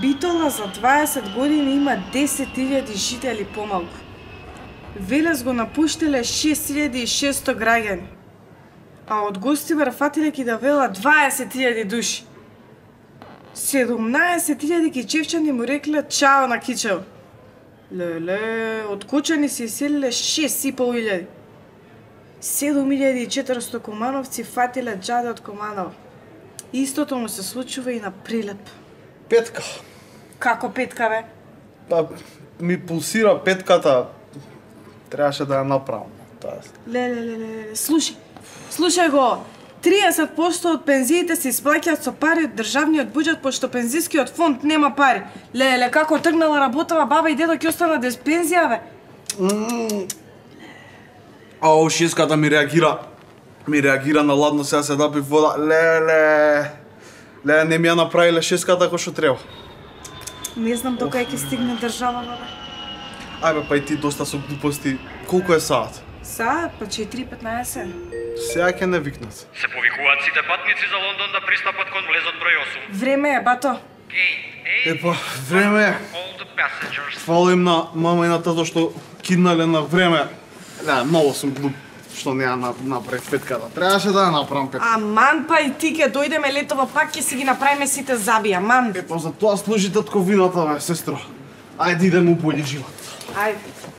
Битола за 20 години има 10.000 жители помалку. Велес го напуштиле 6.600 граѓани. А од Гостивар фатиле ки да вела 20.000 души. 17.000 кичевчани му рекле чао на Кичево. Леле, од Кочани се иселиле 6.500. 7.400 комановци фатиле џаде од Команово. Истото му се случува и на Прилеп. Петка. Како петка, бе? Па, ми пулсира петката. Требаше да ја направам. Леле, слушај го. 30% од пензиите се исплаќаат со пари од државниот буџет, пошто пензискиот фонд нема пари. Леле, како тргнала работава баба и дедо ќе остана без пензија, бе? Ау, шеската ми реагира на ладно, сега се напив вода. Леле, не ми ја направиле шеската како што треба. Не знам докај ќе стигне државава, бе. Ајбе, па и ти доста со глупости. Колку е саат? Саат, па 4:15. Сега ќе не викнат. Се повикуваат сите патници за Лондон да пристапат кон влезот број 8. Време е, бато. Епа, време е. All the passengers. Фала им на мама и на тато што киднале на време. Да, многу сум глуп што не ја направив петката. Требаше да ја направам петката. Аман, па и ти ќе дојдеме летово пак ќе си ги направиме сите заби, аман. Епа, за тоа служи татковината, бе, сестро. Ајде идеме у бољи живот. Ајде.